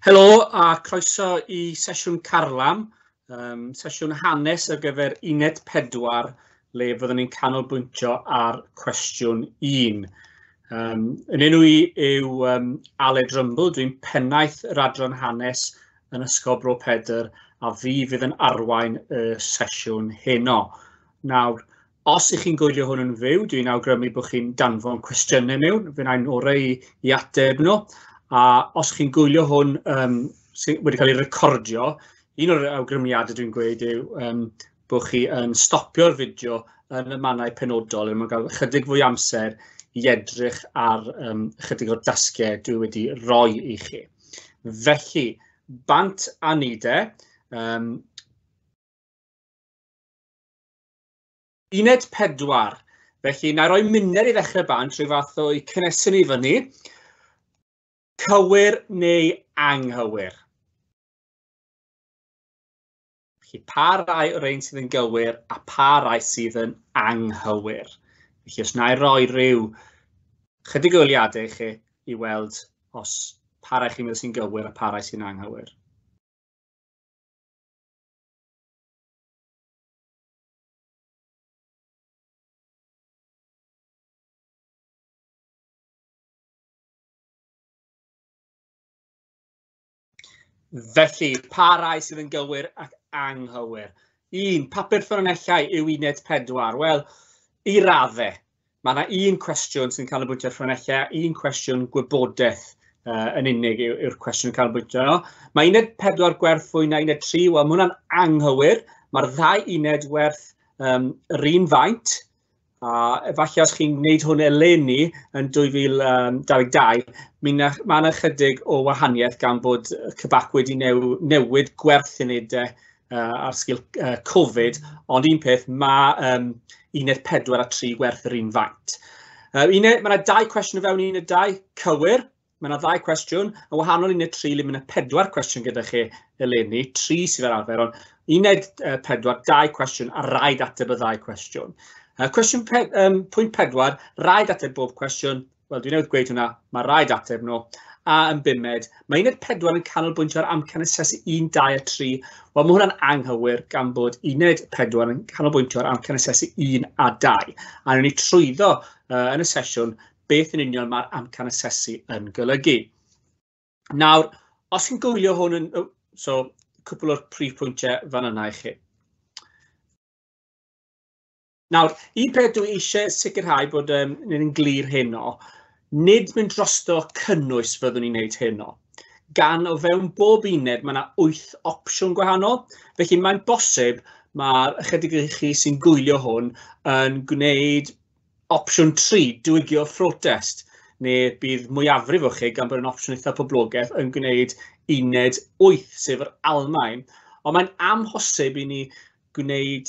Helo a croeso i sesiwn Carlam, sesiwn hanes ar gyfer uned 4, le fyddwn ni'n canolbwyntio ar cwestiwn 1. Yn enw i yw Aled Rumble, dwi'n pennaeth yr adran hanes yn Ysgol Bro Pedr a fi fydd yn arwain y sesiwn heno. Nawr, os ych chi'n gwylio hwn yn fyw, dwi'n awgrymu bod chi'n danfon cwestiynau mewn, fe wna i'n orau i ateb nhw. A os chi'n gwylio hwn sydd wedi cael ei recordio, un o'r awgrymiadau dwi'n gweud yw bod chi yn stopio'r fideo yn y mannau penodol, er mwyn cael ychydig fwy amser i edrych ar ychydig o'r dasgau dwi wedi roi i chi. Felly, bant a ni de. Uned 4. Felly, na i roi munud i ddechrau bant, rhyw fath o'i cynnesu ni fyny. Cywir neu anghywir? Felly, pa rai o'r ein sydd yn gywir a pa rai sydd yn anghywir? Felly, os na i roi rhyw chydig o eiliadau i chi i weld os pa rai chi'n meddwl sy'n gywir a pa rai sy'n anghywir. Felly, pa rai sydd yn gywir ac anghywir? 1, papur ffynonellau yw uned 4. Wel, i raddau. Mae yna un cwestiwn sy'n canolbwyntio ar ffynonellau, un cwestiwn gwybodaeth yn unig yw'r cwestiwn yn canolbwyntio arno. Mae uned 4 gwerth fwy na uned 3, wel, mae hwnna'n anghywir. Mae'r ddau uned werth yr un faint, a efallai os chi'n gwneud hwn eleni yn 2022, mae yna chydig o wahaniaeth gan bod CBAC wedi newid gwerth unedau ar sgil Covid, ond un peth, mae uned 4 a 3 gwerth yr un faint. Mae yna 2 cwestiwn o fewn uned 2, cywir. Mae yna 2 cwestiwn, yn wahanol uned 3 le mae yna 4 cwestiwn gyda chi eleni, 3 sydd ar arfer, ond uned 4, 2 cwestiwn a rhaid ateb y ddau cwestiwn. Cwestiwn pwynt 4, rhaid ateb bob cwestiwn, wel dwi newydd gweud hwnna, mae rhaid ateb nhw. A yn bumed, mae uned 4 yn canolbwyntio ar amcan asesu 1, 2 a 3. Wel, mae hwnna'n anghywir gan bod uned 4 yn canolbwyntio ar amcan asesu 1 a 2. A wnawn ni trwyddo yn y sesiwn beth yn union mae'r amcan asesu yn golygu. Nawr, os chi'n gwylio hwn yn... So, cwpl o'r prif pwyntiau fan yna i chi. Nawr, un peth dwi eisiau sicrhau bod ni'n glir heno, nid mynd drosto cynnwys fyddwn ni'n neud heno. Gan o fewn bob uned mae yna 8 opsiwn gwahanol, felly mae'n bosib mae'r ychydig i chi sy'n gwylio hwn yn gwneud opsiwn 3, diwygio phrotest, neu bydd mwyafrif o chi, gan bod yn opsiwn eitha poblogaidd, yn gwneud uned 8, sef yr Almaen. Ond mae'n amhosib i ni gwneud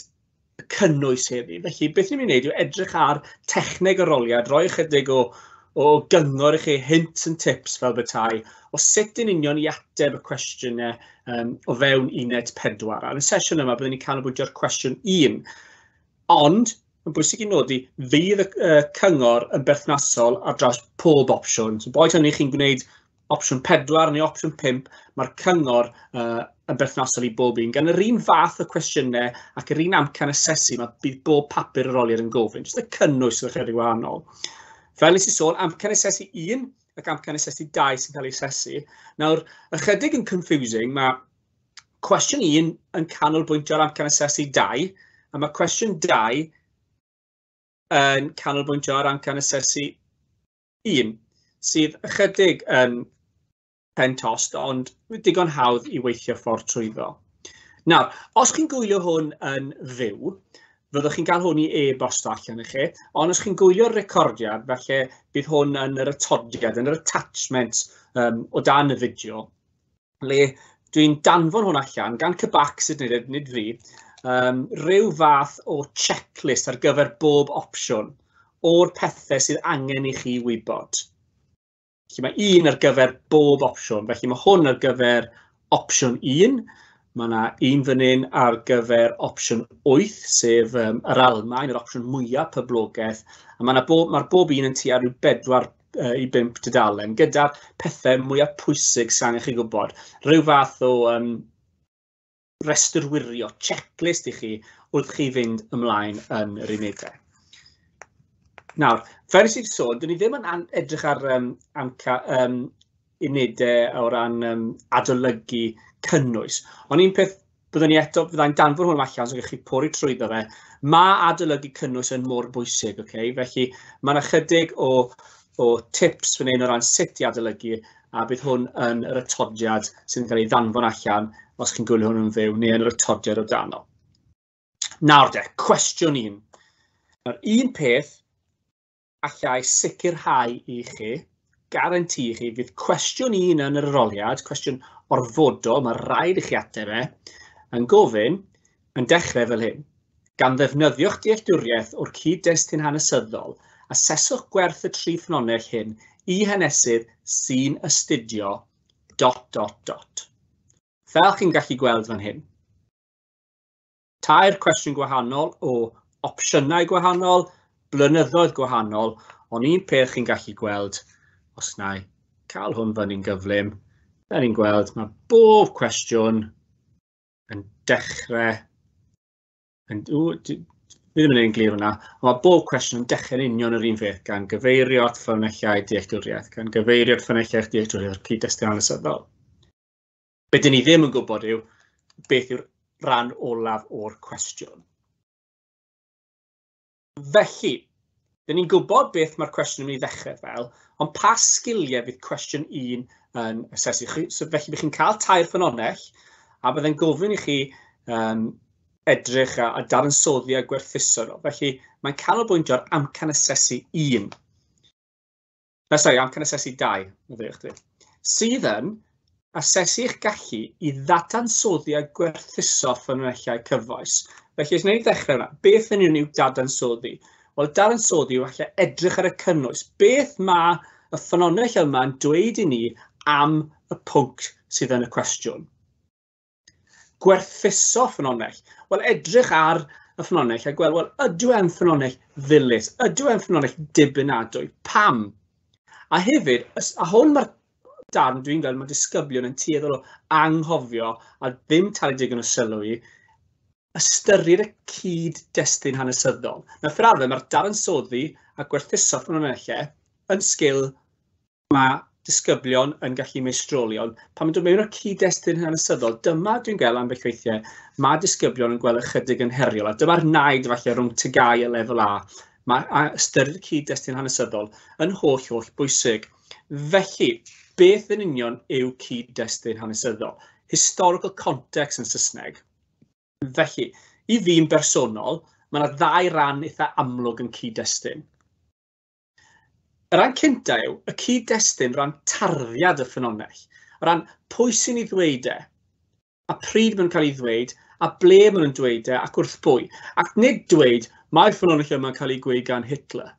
y cynnwys heddi. Felly, beth ni'n mynd i wneud yw edrych ar techneg arholiad, rhoi ychydig o gyngor i chi, hints and tips fel bethau, o sut yn union i ateb y cwestiynau o fewn uned 4. A yn y sesiwn yma, byddwn ni'n canolbwyntio ar cwestiwn 1. Ond, yn bwysig i nodi, fydd y cyngor yn berthnasol ar draws pob opsiwn. So, boed hynny chi'n gwneud opsiwn 4 neu opsiwn 5, mae'r cyngor yn berthnasol i bob un. Gan yr un fath o cwestiynau ac yr un amcan asesu, mae bydd bob papur arholiad yn gofyn. Jyst y cynnwys sydd ychydig wahanol. Fel nes i sôn, amcan asesu 1 ac amcan asesu 2 sy'n cael ei asesu. Nawr, ychydig yn confusing, mae cwestiwn 1 yn canolbwyntio ar amcan asesu 2, a mae cwestiwn 2 yn canolbwyntio ar amcan asesu 1, sydd ychydig yn pen tost, ond digon hawdd i weithio ffordd trwyddo. Nawr, os chi'n gwylio hwn yn fyw, fyddwch chi'n cael hwn i e-bosto allan i chi, ond os chi'n gwylio'r recordiad, falle bydd hwn yn yr atodiad, yn yr attachment o dan y fideo, le dwi'n danfon hwn allan gan CBAC sydd nid fi, rhyw fath o checklist ar gyfer bob opsiwn o'r pethau sydd angen i chi wybod. Felly mae un ar gyfer bob opsiwn, felly mae hwn ar gyfer opsiwn 1, mae yna un fan hyn ar gyfer opsiwn 8, sef yr Almaen, yr opsiwn mwyaf poblogaidd, a mae'r bob un yn tua rhyw 4 i 5 tudalen, gyda'r pethau mwyaf pwysig sy'n angen chi gwybod. Rhyw fath o restr wirio, checklist i chi wrth chi fynd ymlaen yn yr unedau. Nawr, fel nes i sôn, dyn ni ddim yn edrych ar unedau o ran adolygu cynnwys. Ond un peth byddwn ni eto, byddai'n danfon hwn allan, so gallwch chi pori trwyddo fe. Mae adolygu cynnwys yn mor bwysig, okay? Felly mae yna chydig o tips fan hyn o ran sut i adolygu, a bydd hwn yn yr atodiad sydd yn cael ei ddanfon allan os chi'n gwylio hwn yn fyw, neu yn yr atodiad o dano. Nawr de, cwestiwn 1. Nawr, un peth allai sicrhau i chi, garanti i chi, fydd cwestiwn 1 yn yr arholiad, cwestiwn orfodol, mae rhaid i chi ateb e, yn gofyn, yn dechrau fel hyn. Gan ddefnyddio'ch dealltwriaeth o'r cyd-destun hanesyddol, aseswch gwerth y 3 ffynhonnell hyn i hanesydd sy'n astudio dot dot dot. Fel chi'n gallu gweld fan hyn. 3 cwestiwn gwahanol o opsiynau gwahanol, blynyddoedd gwahanol, ond un peth chi'n gallu gweld, os wna i cael hwn fyny'n gyflym, da ni'n gweld mae bob cwestiwn yn dechrau, fi ddim yn ein glir hwnna, ond mae bob cwestiwn yn dechrau'n union yr un peth, gan gyfeirio at ffynonellau dealltwriaeth, gan gyfeirio at ffynonellau dealltwriaeth o'r cyd-destun hanesyddol. Be dyn ni ddim yn gwybod yw beth yw'r rhan olaf o'r cwestiwn. Felly, dyn ni'n gwybod beth mae'r cwestiwn yn mynd i ddechrau fel, ond pa sgiliau fydd cwestiwn 1 yn asesu chi? So, felly, bydd chi'n cael 3 ffynhonnell, a byddai'n gofyn i chi edrych a dadansoddi a gwerthuso nhw. Felly, mae'n canolbwyntio ar amcan asesu 1. Na, sori, amcan asesu 2, maddeuwch dwi. Sydd yn asesu eich gallu i ddadansoddi a gwerthuso ffynonellau cyfoes. Felly, os wnawn ni ddechrau hwnna, beth yn union yw dadansoddi? Wel, dadansoddi yw falle edrych ar y cynnwys. Beth mae y ffynonell yma'n dweud i ni am y pwnc sydd yn y cwestiwn? Gwerthuso ffynonell. Wel, edrych ar y ffynonell a gweld, wel, ydw e'n ffynonell ddilys? Ydw e'n ffynonell dibynadwy? Pam? A hefyd, a hwn mae'r darn dwi'n gweld mae disgyblion yn tueddol o anghofio a ddim talu digon o sylw i, ystyried y cyd-destun hanesyddol. Nawr, fel arfer, mae'r dadansoddi a gwerthuso ffynonellau yn sgil mae disgyblion yn gallu meistroli, ond pan mae'n dod mewn o'r cyd-destun hanesyddol, dyma dwi'n gweld ambell weithiau, mae disgyblion yn gweld ychydig yn heriol, a dyma'r naid falle rhwng TGAU a lefel A. Mae ystyried y cyd-destun hanesyddol yn holl, holl bwysig. Felly, beth yn union yw cyd-destun hanesyddol? Historical context yn Saesneg. Felly, i fi'n bersonol, mae yna 2 ran eitha amlwg yn cyd-destun. Y rhan cynta yw y cyd-destun ran tarddiad y ffynhonnell, o ran pwy sy'n ei ddweud e, a pryd maen nhw'n cael ei ddweud, a ble maen nhw'n dweud e, ac wrth bwy. Ac nid dweud, mae'r ffynhonnell yma'n cael ei gweud gan Hitler.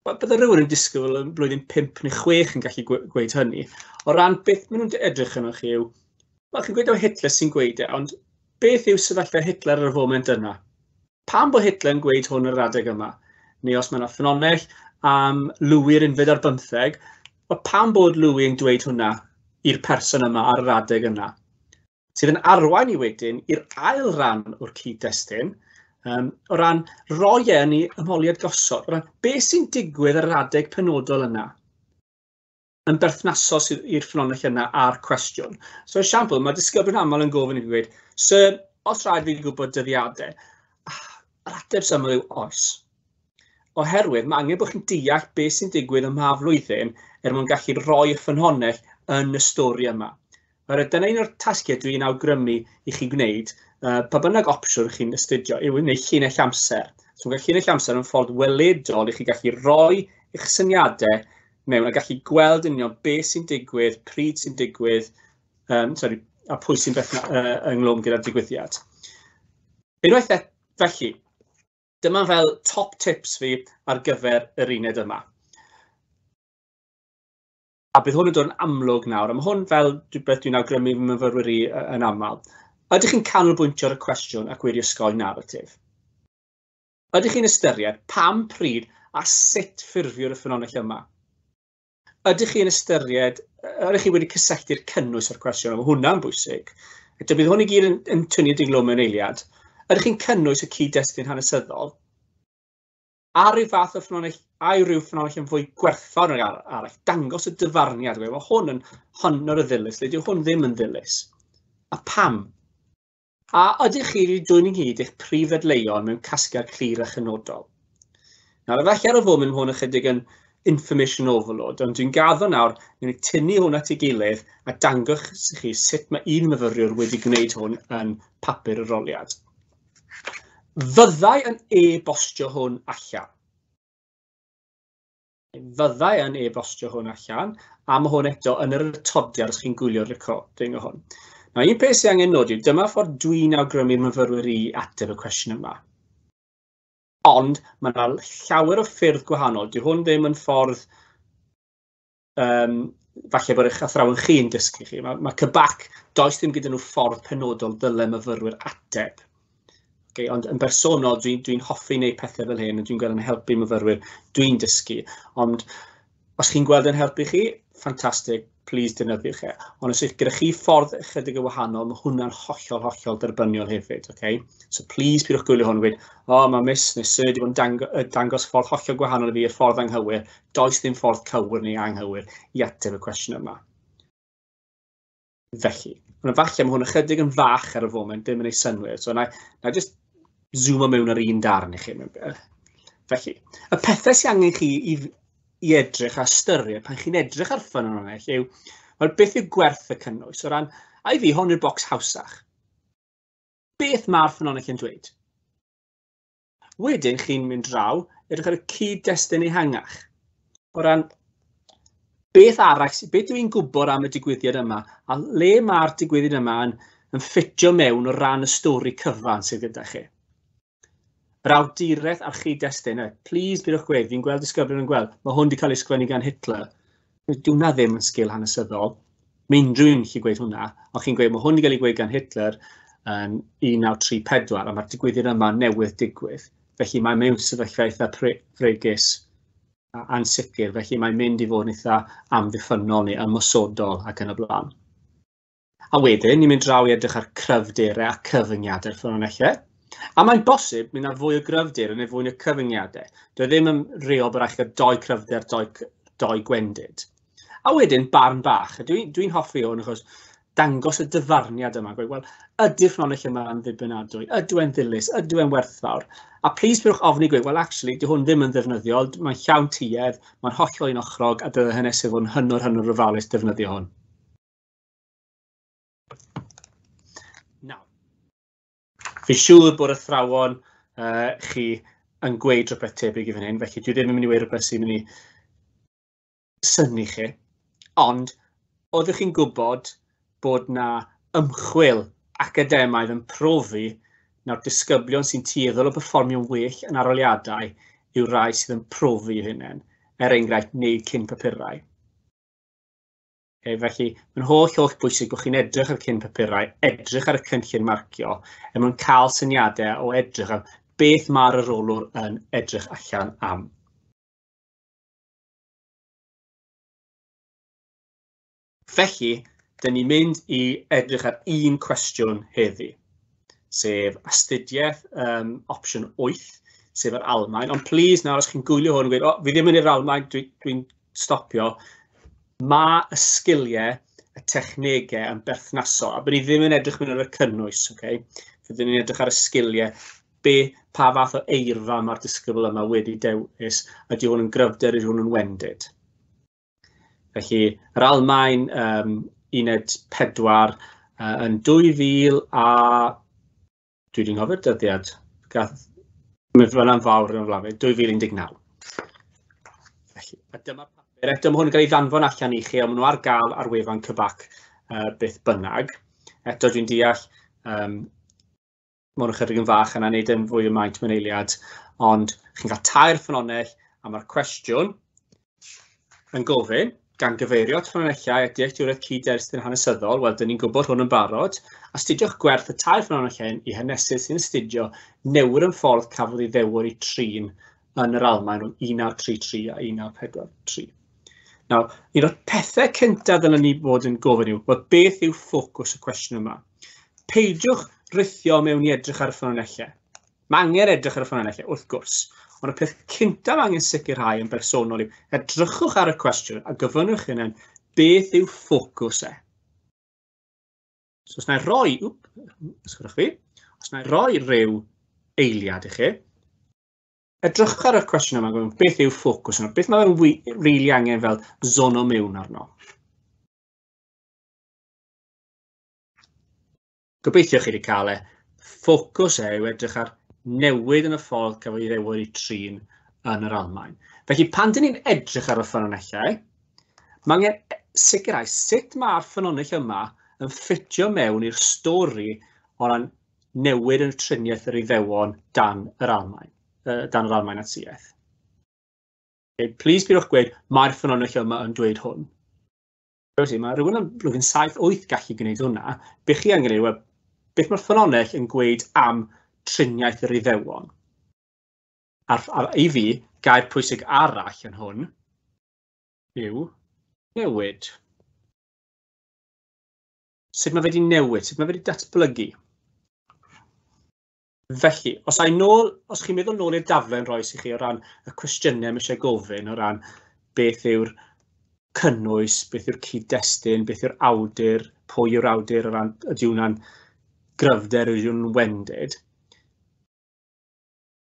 Wel, bydde rhywun yn disgwyl yn blwyddyn 5 neu 6 yn gallu gweud hynny. O ran beth maen nhw'n edrych arnoch chi yw, wel, chi'n gweud o Hitler sy'n gweud e, ond beth yw sefyllfa Hitler ar y foment yna? Pam bod Hitler yn gweud hwn ar yr adeg yma? Neu os mae yna ffynhonnell am Louis yr unfed ar bymtheg, wel, pam bod Louis yn dweud hwnna i'r person yma ar yr adeg yna? Sydd yn arwain i wedyn i'r ail ran o'r cyd-destun, o ran roi e yn ei ymholiad gosod, o ran beth sy'n digwydd ar yr adeg penodol yna, yn berthnasol i'r ffynhonnell yna a'r cwestiwn. So, esiampl, mae disgyblion aml yn gofyn i fi gweud, Sir, os rhaid fi gwybod dyddiadau, yr ateb syml yw oes. Oherwydd mae angen bod chi'n deall beth sy'n digwydd ym mha flwyddyn er mwyn gallu rhoi y ffynhonnell yn y stori yma. Oherwydd dyna un o'r tasgiau dwi'n awgrymu i chi gwneud, pa bynnag opsiwn chi'n astudio, yw wneud llinell amser. So mae llinell amser yn ffordd weledol i chi gallu rhoi eich syniadau mewn a gallu gweld yn union beth sy'n digwydd, pryd sy'n digwydd, a pwy sy'n ynghlwm gyda'r digwyddiad. Unwaith felly, dyma fel top tips fi ar gyfer yr uned yma. A bydd hwn yn dod yn amlwg nawr, a mae hwn fel beth dwi'n awgrymu fy myfyrwyr i yn aml. Ydych chi'n canolbwyntio ar y cwestiwn ac wedi osgoi naratif? Ydych chi'n ystyried pam, pryd a sut ffurfio'r y ffynhonnell yma? Ydych chi'n ystyried, ydych chi wedi cysylltu'r cynnwys o'r cwestiwn? Mae hwnna'n bwysig. Eto, bydd hwn i gyd yn tynnu diglo mewn eiliad. Ydych chi'n cynnwys y cyd-destun hanesyddol? A rhyw fath o ffynhonnell, a yw rhyw ffynhonnell yn fwy gwerthfawr nag arall? Dangos y dyfarniad. Mae hwn yn hynod o ddilys, neu dyw hwn ddim yn ddilys. A pam? A ydych chi wedi dwyn ynghyd eich prif ddadleuon mewn casgliad clir a chynodol? Nawr, efallai ar y foment mae hwn ychydig yn information overload, ond dwi'n gaddo nawr, newn ni tynnu hwn at ei gilydd a dangos i chi sut mae un myfyriwr wedi gwneud hwn yn papur yr arholiad. Fyddai yn e-bostio hwn allan? Fyddai yn e-bostio hwn allan, a mae hwn eto yn yr atodiad os chi'n gwylio'r recording o hwn. Nawr, un peth sydd angen nodi, dyma ffordd dwi'n awgrymu'r myfyrwyr i ateb y cwestiwn yma. Ond mae yna llawer o ffyrdd gwahanol. Dyw hwn ddim yn ffordd falle bod eich athrawon chi'n dysgu chi. Mae CBAC, does ddim gyda nhw ffordd penodol dyle myfyrwyr ateb. Okay, ond yn bersonol, dwi'n hoffi wneud pethau fel hyn, a dwi'n gweld yn helpu myfyrwyr, dwi'n dysgu. Ond os chi'n gweld yn helpu chi, ffantastig, please defnyddiwch e. Ond os ydych gyda chi ffordd ychydig yn wahanol, mae hwnna'n hollol, hollol derbyniol hefyd. Okay? So please pidwch gwylio hwn, gweud, o, oh, mae Miss neu Sir wedi bod yn dangos ffordd hollol gwahanol i fi, y ffordd anghywir. Does ddim ffordd cywir neu anghywir i ateb y cwestiwn yma. Felly, ond efallai mae hwn ychydig yn fach ar y foment, ddim yn ei synwyr. So na i just zoom mewn ar un darn i chi. Felly, y pethau sy'n angen chi i edrych a ystyried pan chi'n edrych ar ffynhonnell yw, wel, beth yw gwerth y cynnwys? O ran, a i fi, hwn yw'r bocs hawsach. Beth mae'r ffynhonnell yn dweud? Wedyn, chi'n mynd draw, edrych ar y cyd-destun ehangach. O ran, beth arall, beth dwi'n gwybod am y digwyddiad yma, a le mae'r digwyddiad yma yn ffitio mewn o ran y stori cyfan sydd gyda chi. Yr awduraeth a'r chyd-destun, please bydwch gweud, fi'n gweld disgyblion yn gweld, mae hwn wedi cael ei sgwennu gan Hitler. Dyw hwnna ddim yn sgil hanesyddol. Mae unrhyw un gallu gweud hwnna, ond chi'n gweud mae hwn wedi cael ei gweud gan Hitler yn 1934, a mae'r digwyddiad yma newydd digwydd. Felly mae mewn sefyllfa eitha fregus a ansicr, felly mae'n mynd i fod yn eitha amddiffynnol neu ymosodol ac yn y blaen. A wedyn, ni'n mynd draw i edrych ar cryfderau a cyfyngiadau'r ffynonellau. A mae'n bosib mynd ar fwy o gryfder neu fwy o cyfyngiadau. Dwi ddim yn rheol bod rhaid chi gael doi cryfder, doi gwendid. A wedyn, barn bach. Dwi'n hoffi hwn achos dangos y dyfarniad yma. Gweud, wel, ydy'r ffynhonnell yma yn ddibynadwy? Ydyw e'n ddilys? Ydyw e'n werthfawr? A please pidwch ofni gweud, well, actually, dyw hwn ddim yn ddefnyddiol, mae'n llawn tuedd, mae'n hollol unochrog, a dylai hanesydd fod yn hynod, hynod ofalus defnyddio hwn. Nawr, fi'n siŵr bod athrawon chi yn gweud rhywbeth tebyg i fan hyn, felly dwi ddim yn mynd i weud rhywbeth sy'n mynd i synnu chi, ond oeddech chi'n gwybod bod na ymchwil academaidd yn profi na'r disgyblion sy'n tueddol o berfformio'n well yn arholiadau yw rai sydd yn profi eu hunain, er enghraifft wneud cyn papurau. Okay, felly, mae'n holl bwysig bod chi'n edrych ar cyn papurau, edrych ar y cynllun marcio, er mwyn cael syniadau o edrych am beth mae'r arholwr yn edrych allan am. Felly, dyn ni'n mynd i edrych ar un cwestiwn heddi, sef astudiaeth opsiwn 8, sef yr Almaen. Ond please nawr, os chi'n gwylio hwn, gweud, o, fi ddim yn i'r Almaen, dwi'n stopio. Mae y sgiliau, y technegau yn berthnasol, a bod ni ddim yn edrych mewn ar y cynnwys, okay? Fyddwn ni'n edrych ar y sgiliau, pa fath o eirfa mae'r disgybl yma wedi dewis, ydy hwn yn gryfder, ydy hwn yn wendid. Felly, yr Almaen, uned 4, yn 2000 a... Dwi wedi anghofio'r dyddiad, gath, mae fyna'n fawr yn y flaen, 2019. Felly, a dyma'r papur. Eto, mae hwn yn cael ei ddanfon allan i chi, ond maen nhw ar gael ar wefan CBAC beth bynnag. Eto, dwi'n deall, mae hwn ychydig yn fach yna, wneud yn fwy o maint mewn eiliad, ond chi'n cael tair ffynhonnell, a mae'r cwestiwn yn gofyn, gan gyfeirio at ffynonellau a dealltwriaeth cyd-destun hanesyddol, wel, dyn ni'n gwybod hwn yn barod, astudiwch gwerth y tair ffynhonnell hyn i hanesydd sy'n astudio newid yn ffordd cafodd ei ddewr i trin yn yr Almaen rhwng 1933 a 1943. Nawr, un o'r pethau cyntaf ddylen ni fod yn gofyn yw, wel, beth yw ffocws y cwestiwn yma? Peidiwch rithio mewn i edrych ar y ffynonellau. Mae angen edrych ar y ffynonellau, wrth gwrs. Ond y peth cyntaf mae angen sicrhau yn bersonol yw edrychwch ar y cwestiwn a gofynnwch hunain beth yw ffocws e. So os na i roi, wp, ysgrifenwch fi, os na i roi rhyw eiliad i chi, edrychwch ar y cwestiwn yma, gofyn, beth yw ffocws yma? Beth mae'n rili angen fel zono mewn arno? Gobeithio chi wedi cael e. Ffocws e yw edrych ar newid yn y ffordd cafodd ei ddewis i trin yn yr Almaen. Felly pan dyn ni'n edrych ar y ffynonellau, mae angen sicrhau sut mae'r ffynonell yma yn ffitio mewn i'r stori o ran newid yn y triniaeth yr Iddewon dan yr Almaen, dan yr Almaen Natsiaeth. Okay, please peidiwch gweud, mae'r ffynonell yma yn dweud hwn. Felly, mae rhywun yn blwyddyn 7-8 gallu gwneud hwnna. Be chi angen yw, beth mae'r ffynonell yn gweud am triniaeth yr Iddewon? A i fi, gair pwysig arall yn hwn yw newid. Sut mae fe wedi newid, sut mae fe wedi datblygu. Felly, os ai nôl, os chi'n meddwl nôl i'r daflen roes i chi o ran y cwestiynau mae eisiau gofyn o ran beth yw'r cynnwys, beth yw'r cyd-destun, beth yw'r awdur, pwy yw'r awdur o ran ydy hwnna'n gryfder, ydy hwnna'n wendid.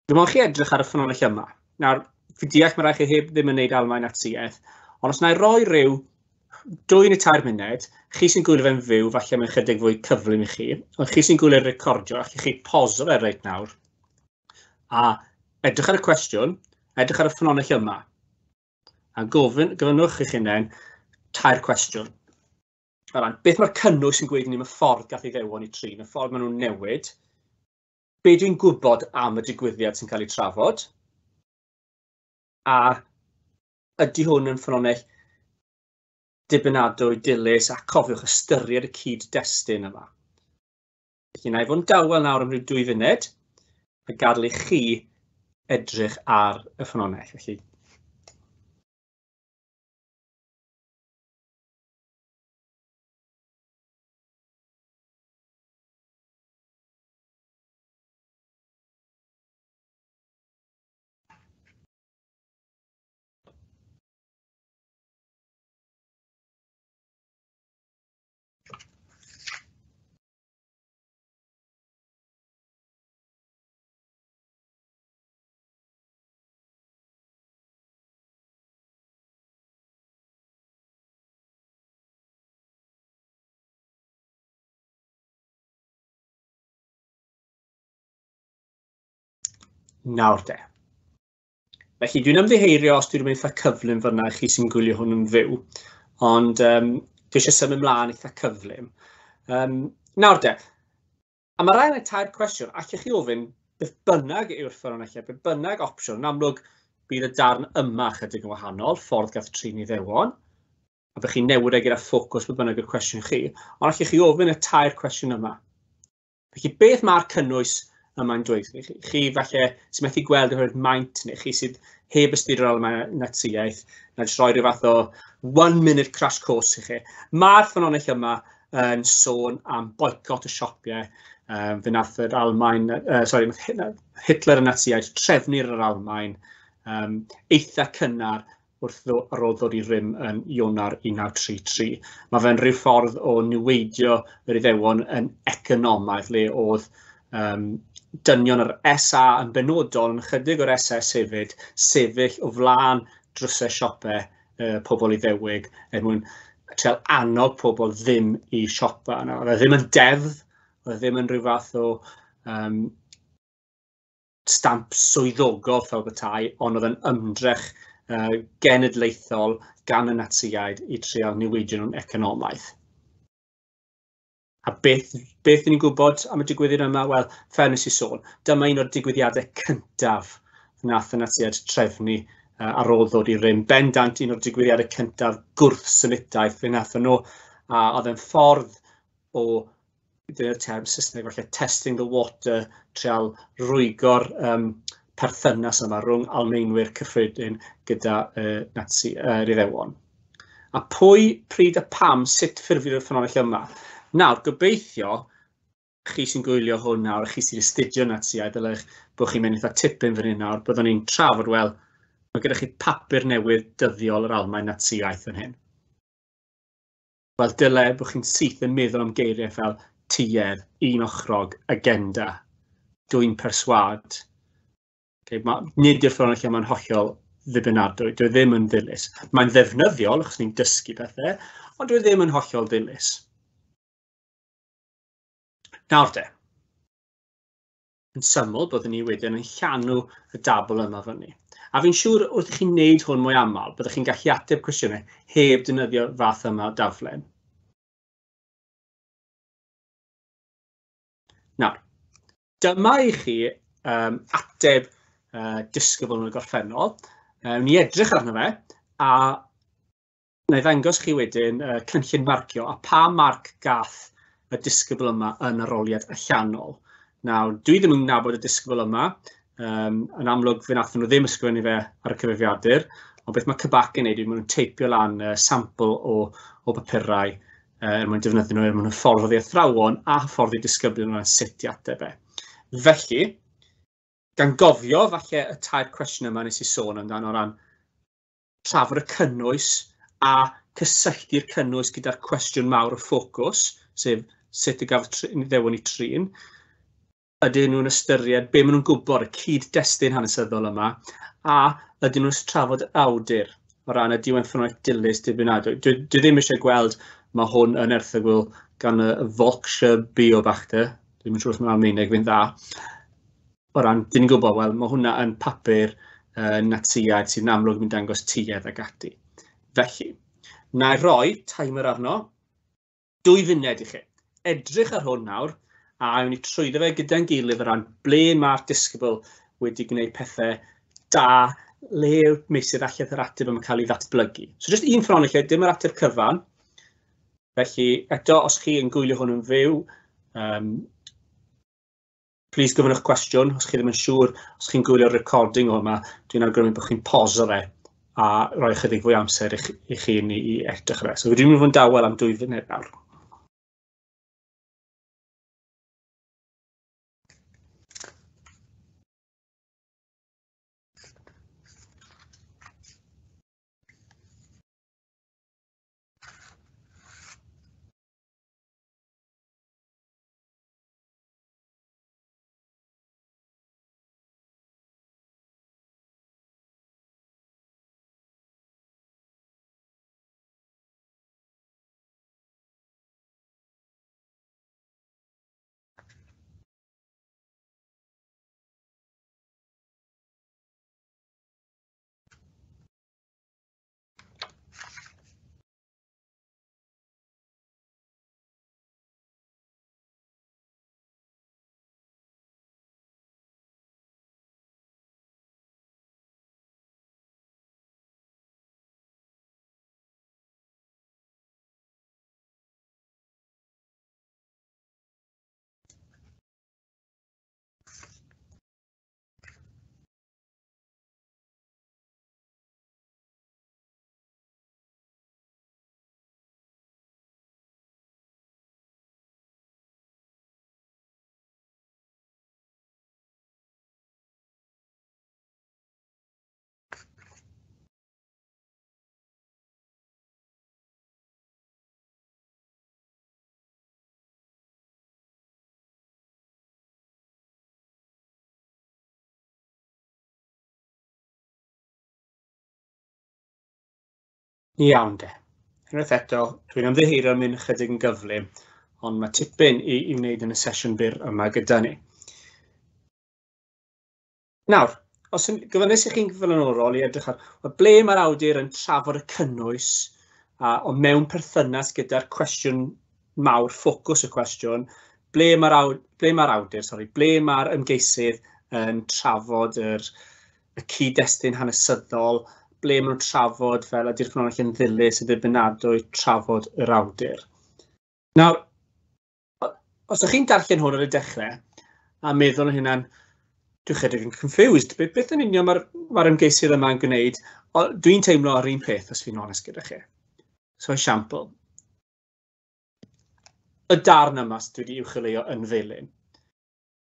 Dwi'n meddwl chi edrych ar y ffynonell yma. Nawr, fi deall mae rhaid chi heb ddim yn gwneud Almaen Natsiaeth, ond os na i roi rhyw 2 neu 3 munud, chi sy'n gwylio fe'n fyw, falle mae'n chydig fwy cyflym i chi, ond chi sy'n gwylio'r recordio, allwch chi poso fe reit nawr, a edrych ar y cwestiwn, edrych ar y ffynonell yma, a gofynnwch i'ch hunain 3 cwestiwn. O ran, beth mae'r cynnwys yn gweud i ni am y ffordd gath ei ddewon i trin, y ffordd maen nhw'n newid, be dwi'n gwybod am y digwyddiad sy'n cael ei trafod, a ydy hwn yn ffynonell dibynadwy, dilys, a cofiwch ystyried y cyd-destun yma. Felly, na i fod yn dawel nawr am ryw 2 funud, a gadael i chi edrych ar y ffynonell. Felly, Nawr de. Felly dwi'n ymddiheurio os dwi'n mynd eitha cyflym fyna i chi sy'n gwylio hwn yn fyw, ond dwi eisiau symud ymlaen eitha cyflym. Nawr de, a mae rhaid yn 3 cwestiwn, allwch chi ofyn beth bynnag yw'r ffynonellau, beth bynnag opsiwn. Yn amlwg bydd y darn yma chydig yn wahanol, ffordd gath trin Iddewon, a bych chi'n newid e gyda ffocws beth bynnag yw'r cwestiwn chi, ond allwch chi ofyn y 3 cwestiwn yma. Felly beth mae'r cynnwys yma'n dweud i chi? Chi falle sy'n methu gweld oherwydd maint, neu chi sydd heb astudio'r Almaen Natsiaeth, na jyst rhoi rhyw fath o 1-minute crash course i chi. Mae'r ffynonell yma yn sôn am boicot y siopau. Fe nath yr Almaen, sorry, nath Hitler y Natsiaid trefnu'r Almaen eitha cynnar wrth ar ôl ddod i rym yn Ionawr 1933. Mae fe'n rhyw ffordd o niweidio yr Iddewon yn economaidd, le oedd dynion yr SA yn benodol, yn ychydig o'r SS hefyd, sefyll o flaen drysau siopau pobl Iddewig er mwyn trial annog pobl ddim i siopa. Oedd e ddim yn deddf, oedd e ddim yn rhyw fath o stamp swyddogol fel petai, ond oedd yn ymdrech genedlaethol gan y Natsiaid i trial niweidio nhw'n economaidd. A beth ni'n gwybod am y digwyddiad yma? Wel, fel nes i sôn, dyma un o'r digwyddiadau cyntaf nath y Natsiaid trefnu ar ôl ddod i rym. Bendant un o'r digwyddiadau cyntaf gwrth-Semitaeth fe nathon nhw, a oedd yn ffordd o, dyna'r term Saesneg falle, testing the water, trial rwygo'r perthynas yma rhwng Almaenwyr cyffredin gyda Nazi, yr Iddewon. A pwy, pryd a pam, sut ffurfiodd y ffynhonnell yma? Nawr, gobeithio, chi sy'n gwylio hwn nawr, chi sy'n astudio Natsiaeth, dylech bod chi'n mynd eitha tipyn fan hyn nawr, byddwn ni'n trafod, wel, mae gyda chi papur newydd dyddiol yr Almaen Natsiaeth fan hyn. Wel, dyle bod chi'n syth yn meddwl am geiriau fel tuedd, un ochrog, agenda, dwyn perswâd. Okay, nid yw'r ffynhonnell yma'n hollol ddibynadwy, dyw e ddim yn ddilys. Mae'n ddefnyddiol, achos ni'n dysgu pethau, ond dyw e ddim yn hollol ddilys. Nawr de, yn syml, byddwn ni wedyn yn llanw y dabl yma fyny. A fi'n siŵr wrth i chi wneud hwn mwy aml, byddwch chi'n gallu ateb cwestiynau heb defnyddio fath yma o daflen. Nawr, dyma i chi ateb disgybl yn y gorffennol. Ni edrych arno fe, a na i ddangos chi wedyn cynllun marcio a pa marc gath y disgybl yma yn arholiad allanol. Nawr, dwi ddim yn nabod y disgybl yma. Yn amlwg, fe wnaethon nhw ddim ysgrifennu fe ar y cyfrifiadur, ond beth mae CBAC yn neud yw maen nhw'n teipio lan sampl o bapurau er mwyn defnyddio nhw er mwyn hyfforddi athrawon a hyfforddi disgyblion o ran sut i ateb e. Felly, gan gofio falle y tair cwestiwn yma nes i sôn amdano o ran trafod y cynnwys a cysylltu'r cynnwys gyda'r cwestiwn mawr o ffocws, sef sut y gafodd Iddewon eu trin, ydyn nhw'n ystyried be maen nhw'n gwybod, y cyd-destun hanesyddol yma, a ydyn nhw'n trafod awdur o ran ydy o'n ffynhonnell dilys dibynadwy. Dwi ddim eisiau gweld mae hwn yn erthygl gan y Volksche Beobachter, dwi'n siŵr os mae'n Almaeneg fi'n dda, o ran, dyn ni'n gwybod, wel, mae hwnna yn papur Natsiaid sy'n amlwg yn dangos tuedd ag ati. Felly, na i roi timer arno, 2 funud i chi. Edrych ar hwn nawr, a awn ni trwyddo fe gyda'n gilydd o ran ble mae'r disgybl wedi gwneud pethau da, le yw'r meysydd allan yr ateb yma'n cael ei ddatblygu. So, jyst un ffynhonnell, dim yr ateb cyfan. Felly, eto, os chi yn gwylio hwn yn fyw, please gofynnwch cwestiwn, os chi ddim yn siŵr, os chi'n gwylio'r recording o yma, dwi'n awgrymu bod chi'n pauso fe a rhoi ychydig fwy amser i chi i edrych ar e. So dwi'n mynd i fod yn dawel am 2 funud nawr. Iawn de. Unwaith eto, dwi'n ymddiheuro am mynd ychydig yn gyflym, ond mae tipyn i wneud yn y sesiwn byr yma gyda ni. Nawr, os gofynnais i chi'n flaenorol i edrych ar wel, ble mae'r awdur yn trafod y cynnwys o mewn perthynas gyda'r cwestiwn mawr, ffocws y cwestiwn, ble mae'r awdur, sorry, ble mae'r ymgeisydd yn trafod y cyd-destun hanesyddol, ble maen nhw'n trafod fel ydy'r ffynhonnell yn ddilys, yn ddibynadwy, trafod yr awdur. Nawr, os ydych chi'n darllen hwn ar y dechrau a meddwl yn hynna'n, dwi'n chydig yn confused, beth yn union mae'r ymgeisydd yma'n gwneud, dwi'n teimlo ar un peth, os fi'n onest gyda chi. So, esiampl, y darn yma sydd wedi uwcholeuo yn felyn.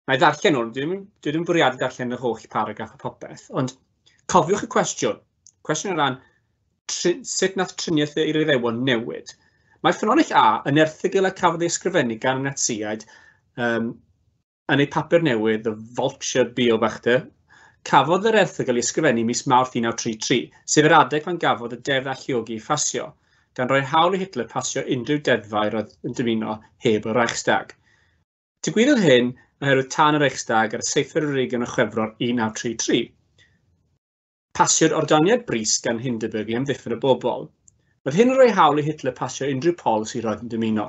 Na i ddarllen hwn, dwi ddim bwriadu darllen yr holl paragraff a popeth, ond cofiwch y cwestiwn. Cwestiwn o ran sut nath triniaeth i'r Iddewon newid. Mae ffynhonnell A yn erthygl a cafodd ei ysgrifennu gan y Natsïaid yn eu papur newydd, The Vulture Beobachter. Cafodd yr erthygl ei ysgrifennu mis Mawrth 1933, sef yr adeg pan gafodd y deddf alluogi ei phasio, gan roi hawl i Hitler pasio unrhyw deddfau roedd yn dymuno heb y Reichstag. Digwyddodd hyn oherwydd tân y Reichstag ar y 27 o Chwefror 1933. Pasiodd ordoniad brys gan Hindenburg i amddiffyn y bobl. Roedd hyn yn rhoi hawl i Hitler pasio unrhyw polisi roedd yn dymuno.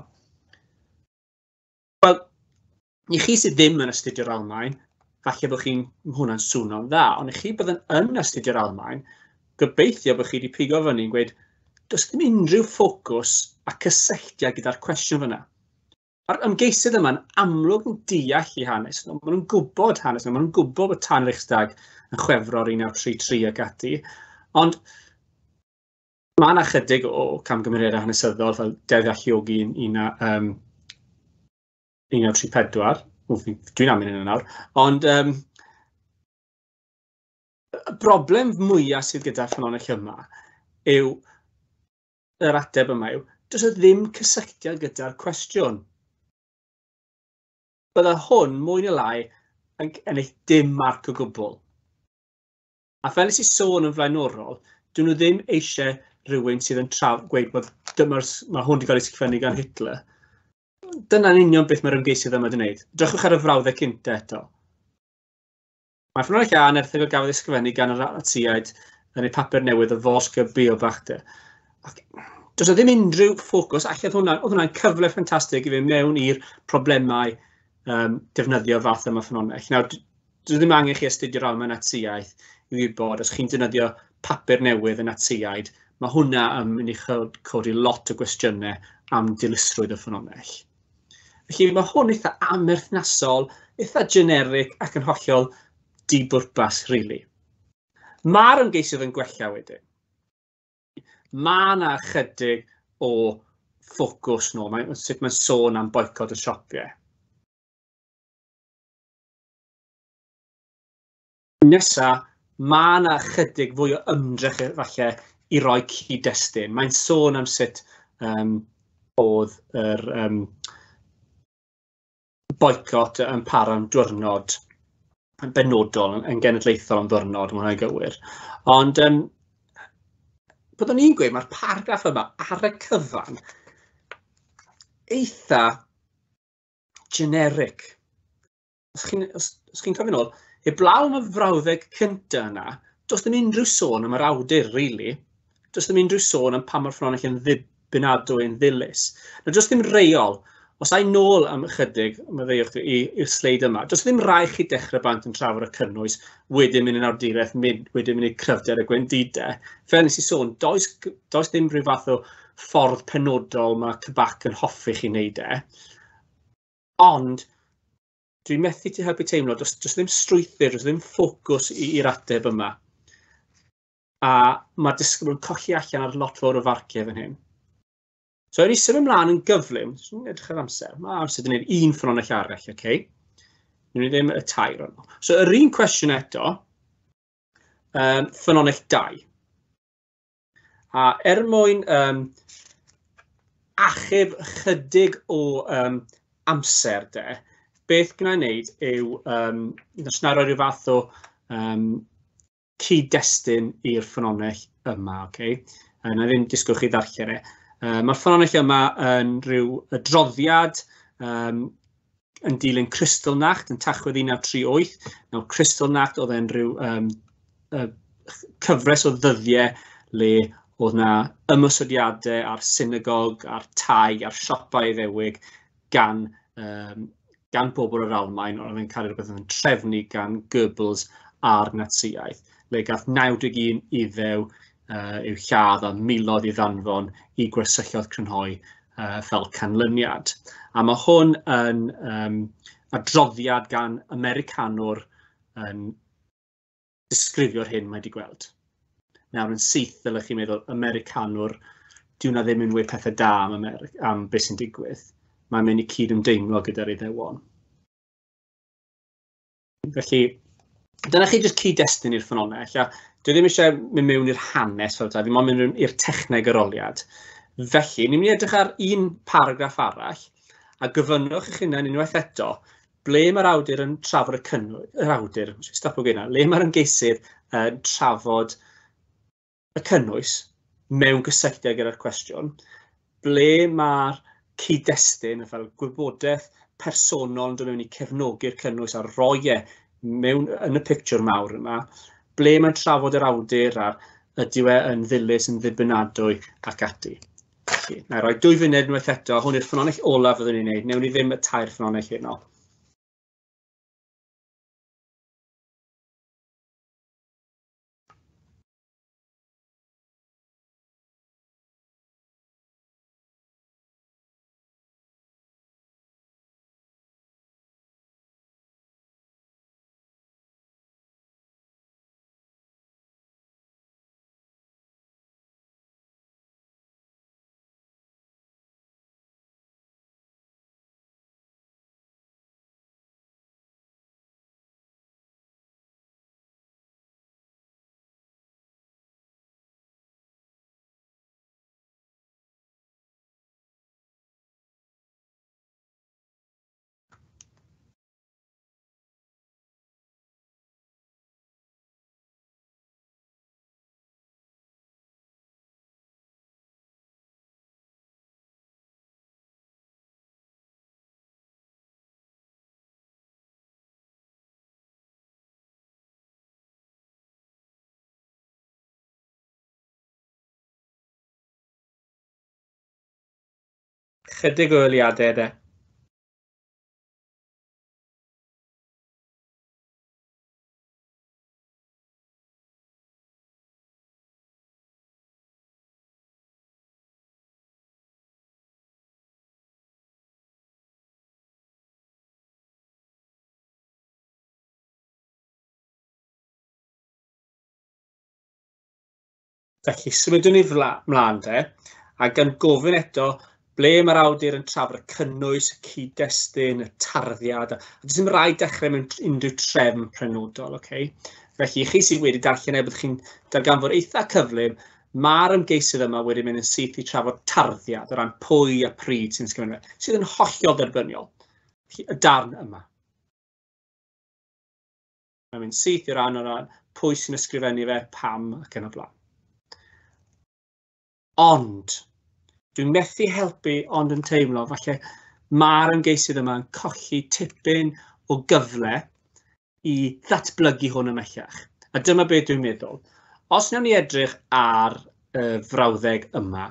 Wel, i chi sydd ddim yn astudio'r Almaen, falle bod chi'n hwnna'n swnio'n dda, ond i chi bydd yn astudio'r Almaen, gobeithio bod chi wedi pigo fyny yn gweud, does ddim unrhyw ffocws a cysylltiad gyda'r cwestiwn fyna. Mae'r ymgeisydd yma'n amlwg yn deall i hanes nhw, maen nhw'n gwybod hanes nhw, maen nhw'n gwybod bod tân Reichstag yn Chwefror 1933 ac ati, ond mae yna chydig o camgymeriadau hanesyddol fel Deddf Alluogi 1934, dwi'n am hynny nawr, ond y broblem mwyaf sydd gyda'r ffynhonnell yma yw yr ateb yma yw, does e ddim cysylltiad gyda'r cwestiwn. Bydde hwn mwy neu lai yn ennill dim marc o gwbl. A fel nes i sôn yn flaenorol, dyn nhw ddim eisiau rhywun sydd yn gweud bod mae hwn wedi cael ei sgrifennu gan Hitler. Dyna'n union beth mae'r ymgeisydd yma wedi gwneud. Drychwch ar y frawddeg cynta eto. Mae ffynhonnell A yn erthygl gafodd ei sgrifennu gan y Natsïaid yn eu papur newydd y Volksche Beobachter. Ac does 'na ddim unrhyw ffocws, allan oedd hwnna'n cyfle ffantastig i fynd mewn i'r problemau defnyddio fath yma ffynhonnell. Nawr, does ddim angen chi astudio'r Almaen Natsïaeth i wybod, os chi'n defnyddio papur newydd y Natsïaid, mae hwnna yn mynd i codi lot o gwestiynau am dilysrwydd y ffynhonnell. Felly mae hwn eitha amherthnasol, eitha generic ac yn hollol dibwrpas, really. Mae'r ymgeisydd yn gwella wedyn. Mae yna chydig o ffocws nôl, sut mae'n sôn am boicot y siopau. Nesa, mae yna chydig fwy o ymdrech falle i roi cyd-destun. Mae'n sôn am sut oedd yr boicot yn para am diwrnod yn benodol, yn genedlaethol am ddiwrnod, mae hwnna'n gywir. Ond byddwn i'n gweud, mae'r paragraff yma ar y cyfan eitha generic. Os chi'n cofio nôl, heblaw am y frawddeg cynta yna, does ddim unrhyw sôn am yr awdur, really. Does ddim unrhyw sôn am pa mor ffynhonnell yn ddibynadwy yn ddilys. Nawr, does ddim reol. Os ai nôl am ychydig, maddeuwch fi, i'r sleid yma, does ddim rhaid chi dechrau bant yn trafod y cynnwys, wedyn mynd yn awduraeth, wedyn mynd i cryfder y gwendidau. Fel nes i sôn, does ddim rhyw fath o ffordd penodol mae CBAC yn hoffi chi wneud e. Ond dwi'n methu ti helpu teimlo, does ddim strwythur, does ddim ffocws i'r ateb yma. A mae'r disgybl yn colli allan ar lot fawr o farciau fan hyn. So, ewn ni symud ymlaen yn gyflym, jyst edrych ar amser, mae amser wedi gwneud un ffynhonnell arall, oce? Newn ni ddim y tair o'n. So, yr un cwestiwn eto, ffynhonnell 2. A er mwyn achub chydig o amser de, beth gwna i wneud yw, os na roi rhyw fath o cyd-destun i'r ffynhonnell yma, oce? Na i ddim disgwyl chi ddarllen e. Mae'r ffynhonnell yma yn rhyw adroddiad yn dilyn Kristallnacht yn Tachwedd 1938. Nawr, Kristallnacht oedd e'n rhyw cyfres o ddyddiau le oedd na ymosodiadau ar synagog, ar tai, ar siopau Iddewig gan bobl o'r Almaen, oedd yn cael rhywbeth yn trefnu gan Goebbels a'r Natsïaeth, le gath 91 Iddew i'w lladd a miloedd i ddanfon i gwersylloedd crynhoi fel canlyniad. A mae hwn yn adroddiad gan Americanwr yn disgrifio'r hyn mae wedi gweld. Nawr yn syth ddylech chi meddwl Americanwr Dyw hwnna ddim yn wir pethau da am, America, am beth sy'n digwydd. Mae'n mynd i cyd-ymdeimlo gyda'r Iddewon. Felly, dyna chi jyst cyd-destun i'r ffynhonnell, a dwi ddim eisiau mynd mewn i'r hanes fel ta, fi moyn mynd i'r techneg arholiad. Felly, ni'n mynd i edrych ar un paragraff arall, a gofynnwch eich hunain unwaith eto, ble mae'r awdur yn trafod y cynnwys, yr awdur, stop o gyna, le mae'r ymgeisydd yn trafod y cynnwys mewn gysylltiad gyda'r cwestiwn, ble mae'r cyd-destun, fel gwybodaeth personol yn dod mewn i cefnogi'r cynnwys a roi e mewn yn y pictiwr mawr yma, ble mae'n trafod yr awdur a'r ydyw e yn ddilys, yn ddibynadwy ac ati. Felly, na i roi 2 funud unwaith eto, hwn yw'r ffynhonnell olaf fyddwn ni'n neud, newn ni ddim y 3 ffynhonnell heno. Chydig o eiliadau de. Felly, symudwn ni mlaen de, a gan gofyn eto ble mae'r awdur yn trafod y cynnwys, y cyd-destun, y tarddiad, a does dim rhaid dechrau mewn unrhyw trefn penodol, okay? Felly, chi sydd wedi darllen e, byddwch chi'n darganfod eitha cyflym, mae'r ymgeisydd yma wedi mynd yn syth i trafod tarddiad o ran pwy a pryd sy'n ysgrifennu fe, sydd yn hollol dderbyniol. Felly, y darn yma. Mae'n mynd syth i'r ran o ran pwy sy'n ysgrifennu fe, pam ac yn y blaen. Ond, dwi'n methu helpu ond yn teimlo, falle mae'r ymgeisydd yma yn colli tipyn o gyfle i ddatblygu hwn ymhellach. A dyma beth dwi'n meddwl. Os wnawn ni edrych ar y frawddeg yma,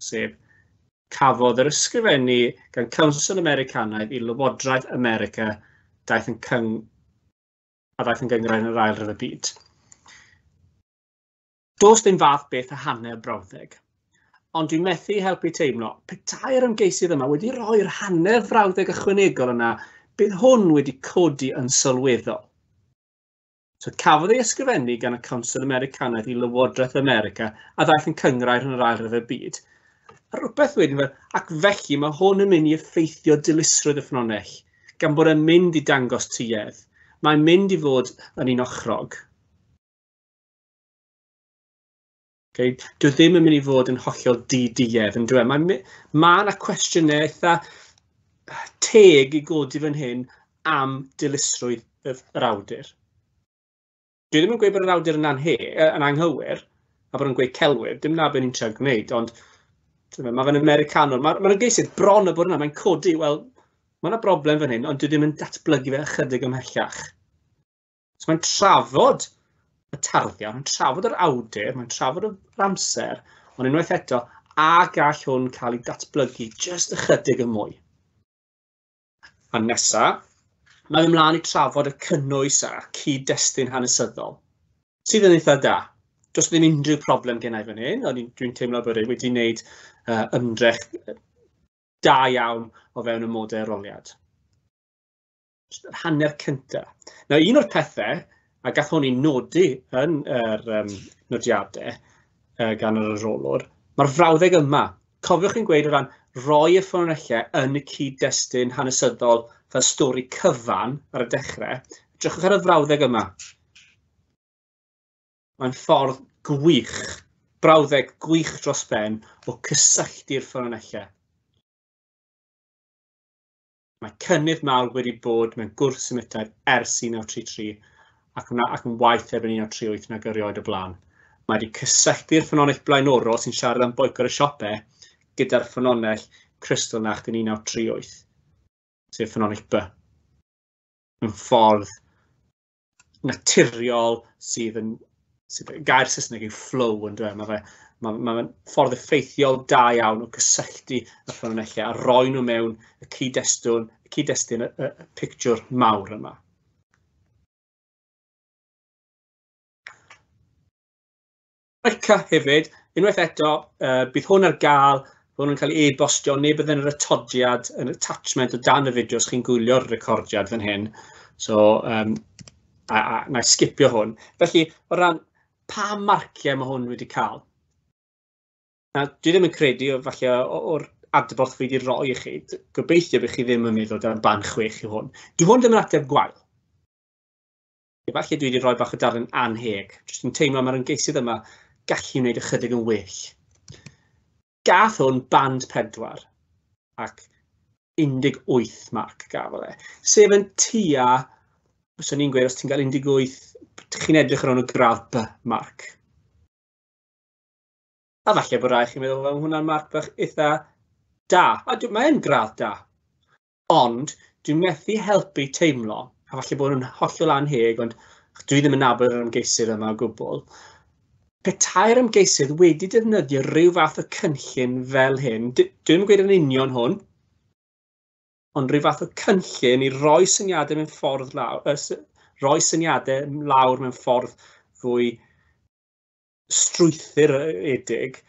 sef cafodd yr ysgrifennu gan Council Americanaidd i Lywodraeth America daeth yn a ddaeth yn gynghrair yn yr Ail Ryfel Byd. Does dim fath beth a hanner brawddeg, ond dwi'n methu helpu teimlo, petai'r ymgeisydd yma wedi rhoi'r hanner frawddeg ychwanegol yna, bydd hwn wedi codi yn sylweddol. So cafodd ei ysgrifennu gan y Council Americanaidd i Lywodraeth America a ddaeth yn cynghrair yn yr Ail Ryfel Byd. A rhywbeth wedyn fel, ac felly mae hwn yn mynd i effeithio dilysrwydd y ffynhonnell, gan bod e'n mynd i dangos tuedd. Mae'n mynd i fod yn un ochrog. Okay. Dwi ddim yn mynd i fod yn hollol di-duedd yn dwi. Mae yna cwestiynau eitha teg i godi fan hyn am dilysrwydd yr awdur. Dwi ddim yn gweud bod yr awdur yn yn anghywir, a bod yn gweud celwydd, dim na beth ni'n trio gwneud, ond mae fe'n Americanwr. Mae'r ymgeisydd bron o bod yna, mae'n codi, wel, mae yna broblem fan hyn, ond dwi ddim yn datblygu fe ychydig ymhellach. So mae'n trafod y tarddiad, mae'n trafod yr awdur, mae'n trafod yr amser, ond unwaith eto, a gall hwn cael ei datblygu jyst ychydig yn mwy. A nesa, mae'n ymlaen i trafod y cynnwys a cyd-destun hanesyddol, sydd yn eitha da. Does ddim unrhyw problem gen i fan hyn, ond dwi'n teimlo bod e wedi wneud ymdrech da iawn o fewn y modau arholiad. Yr hanner cyntaf. Nawr, un o'r pethau, a gath hwn ei nodi yn yr nodiadau gan yr arholwr, Mae'r frawddeg yma, cofiwch chi'n gweud o ran roi y ffynonellau yn y cyd-destun hanesyddol fel stori cyfan ar y dechrau, edrychwch ar y frawddeg yma. Mae'n ffordd gwych, brawddeg gwych dros ben o cysylltu'r ffynonellau. Mae cynnydd mawr wedi bod mewn gwrth-Semitaidd ers 1933 ac, yna, ac yn waeth erbyn 1938 nag erioed o blaen. Mae wedi cysylltu'r ffynonell blaenorol sy'n siarad am boicot y siopau gyda'r ffynonell Kristallnacht yn 1938, sef ffynonell B. Mewn ffordd naturiol sydd yn, sydd, gair Saesneg yw flow yn dweud, mae fe, mae fe'n ffordd effeithiol da iawn o gysylltu y ffynonellau a roi nhw mewn y cyd-destun, y cyd-destun, y pictiwr mawr yma. Micah hefyd, unwaith eto, bydd hwn ar gael, bydd hwn yn cael ei e-bostio, neu bydd yn yr atodiad, yn attachment o dan y fideo os chi'n gwylio'r recordiad fan hyn. So, a na i sgipio hwn. Felly, o ran pa marciau mae hwn wedi cael? Na, dwi ddim yn credu, falle o'r adborth fi wedi roi i chi, gobeithio bydd chi ddim yn meddwl dan band 6 i hwn. Dwi hwn ddim yn ateb gwael. Efallai dwi wedi rhoi bach o darlun anheg, jyst yn teimlo mae'r ymgeisydd yma gallu wneud ychydig yn well. Gath hwn band 4 ac 18 marc gafodd e. Sef yn tua, fyswn i'n gweud, os ti'n cael 18, chi'n edrych ar ôl y gradd B marc. A falle bod rai chi'n meddwl, wel, hwnna'n marc bach eitha da. A mae'n gradd da. Ond dwi'n methu helpu teimlo, a falle bod nhw'n hollol anheg, ond dwi ddim yn nabod yr ymgeisydd yma o gwbl, petai'r ymgeisydd wedi defnyddio rhyw fath o cynllun fel hyn, dwi ddim yn gweud yn union hwn, ond rhyw fath o cynllun i roi syniadau mewn ffordd lawr, roi syniadau lawr mewn ffordd fwy strwythuredig,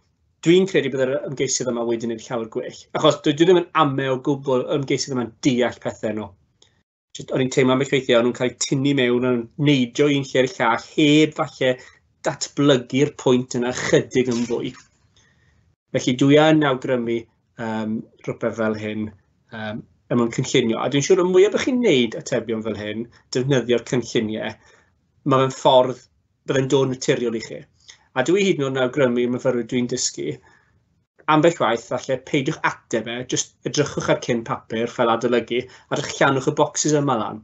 dwi'n credu bydd yr ymgeisydd yma wedi gwneud llawer gwell. Achos dwi ddim yn ame o gwbl yr ymgeisydd yma'n deall pethau nhw. O'n i'n teimlo ambell weithiau, o'n nhw'n cael eu tynnu mewn, o'n neidio un lle i'r llall, heb falle datblygu'r pwynt yna chydig yn fwy. Felly dwi yn awgrymu rhywbeth fel hyn er mwyn cynllunio. A dwi'n siŵr y mwyaf bych chi'n neud atebion fel hyn, defnyddio'r cynlluniau, mae fe'n ffordd byddai'n dod naturiol i chi. A dwi hyd yn oed yn awgrymu i'r myfyrwyr dwi'n dysgu, ambell waith, falle peidiwch ateb e, jyst edrychwch ar cyn papur fel adolygu, a llanwch y bocsys yma lan,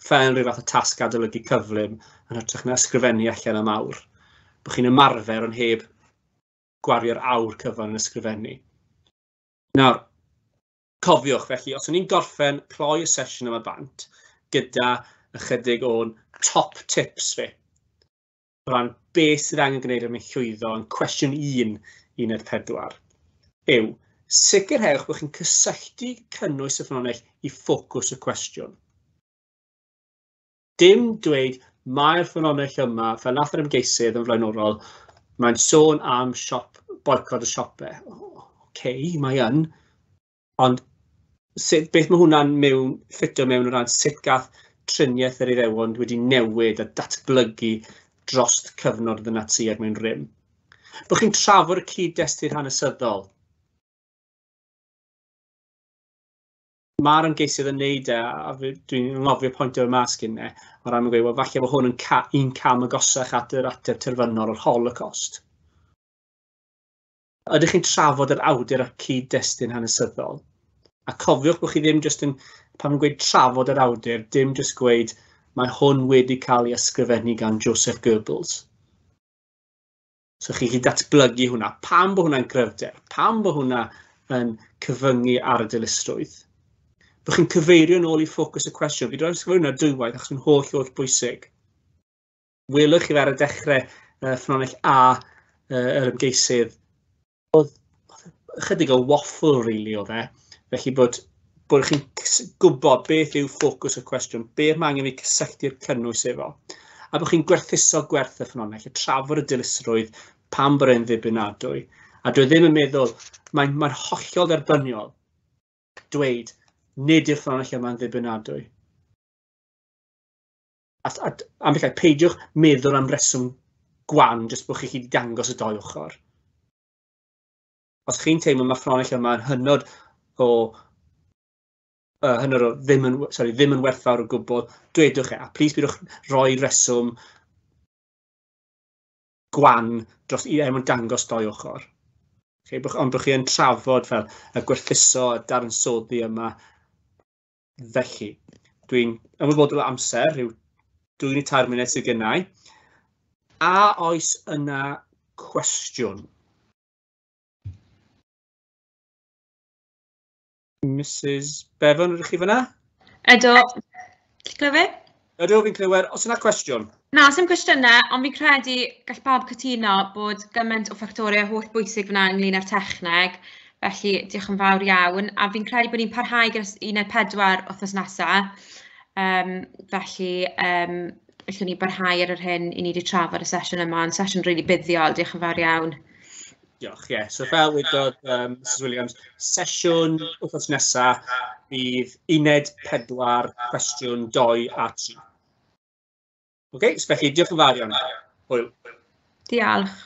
fel rhyw fath o tasg adolygu cyflym, yn hytrach na ysgrifennu allan am awr. Bod chi'n ymarfer ond heb gwario'r awr cyfan yn ysgrifennu. Nawr, cofiwch felly, os o'n i'n gorffen cloi y sesiwn yma bant, gyda ychydig o'n top tips fi, o ran beth sydd angen gwneud er mwyn llwyddo yn cwestiwn 1, uned 4, yw sicrhewch bod chi'n cysylltu cynnwys y ffynhonnell i ffocws y cwestiwn. Dim dweud mae'r ffynhonnell yma, fel nath yr ymgeisydd yn flaenorol, mae'n sôn am siop, boicot y siopau. Oce, mae yn, ond sut, beth mae hwnna'n mewn, ffitio mewn o ran sut gath triniaeth yr Iddewon wedi newid a datblygu dros cyfnod y Natsïaid mewn rym. Bod chi'n trafod y cyd-destun hanesyddol. Mae'r ymgeisydd yn neud e, a dwi'n anghofio pwyntio y mas gynne, o ran gweud, wel, falle bod hwn yn un cam agosach at yr ateb terfynol o'r Holocaust. Ydych chi'n trafod yr awdur a'r cyd-destun hanesyddol? A cofiwch bod chi ddim jyst yn, pan yn gweud trafod yr awdur, dim jyst gweud mae hwn wedi cael ei ysgrifennu gan Joseph Goebbels. So chi chi datblygu hwnna. Pam bod hwnna'n gryfder? Pam bod hwnna yn cyfyngu ar y dilysrwydd? Bod chi'n cyfeirio nôl i ffocws y cwestiwn. Fi wedi ysgrifennu hwnna dwywaith achos mae'n holl, holl bwysig. Welwch chi fe ar y dechrau ffynhonnell A yr ymgeisydd. Oedd ychydig o waffle, really, oedd e. Felly bod chi'n gwybod beth yw ffocws y cwestiwn, beth mae angen fi cysylltu'r cynnwys efo. A bod chi'n gwerthuso gwerth y ffynhonnell, y trafod y dilysrwydd, pam bod e'n ddibynadwy. A dwi ddim yn meddwl, mae'n hollol dderbyniol dweud, nid yw'r ffynhonnell yma'n ddibynadwy. A ambell ai, peidiwch meddwl am reswm gwan, jyst bod chi wedi dangos y dou ochr. Os chi'n teimlo mae ffynhonnell yma yn hynod o hynod o ddim yn, sorry, ddim yn werthfawr o gwbl, dwedwch e, a plis bydwch roi reswm gwan dros i er mwyn dangos doi ochr. Okay, ond bod chi yn trafod fel y gwerthuso a dadansoddi yma. Felly, dwi'n ymwybodol o amser, rhyw 2 neu 3 munud sydd gennau. A oes yna cwestiwn? Mrs Bevan, ydych chi fyna? Ydw. Ti'n clywed? Ydw, fi'n clywed. Oes yna cwestiwn? Na, sim cwestiynau, ond fi'n credu gall pawb cytuno bod gymaint o ffactorau holl bwysig fyna ynglyn â'r techneg. Felly, diolch yn fawr iawn. A fi'n credu bod ni'n parhau gyda uned 4 wythnos nesaf. Felly, allwn ni barhau ar yr hyn i ni wedi trafod y sesiwn yma. Yn sesiwn rili buddiol, diolch yn fawr iawn. Diolch, ie. Yeah. So fel wedodd Mrs Williams, sesiwn wythnos nesaf bydd uned 4, cwestiwn 2 a 3. OK, so felly diolch yn fawr iawn. Hwyl. Diolch.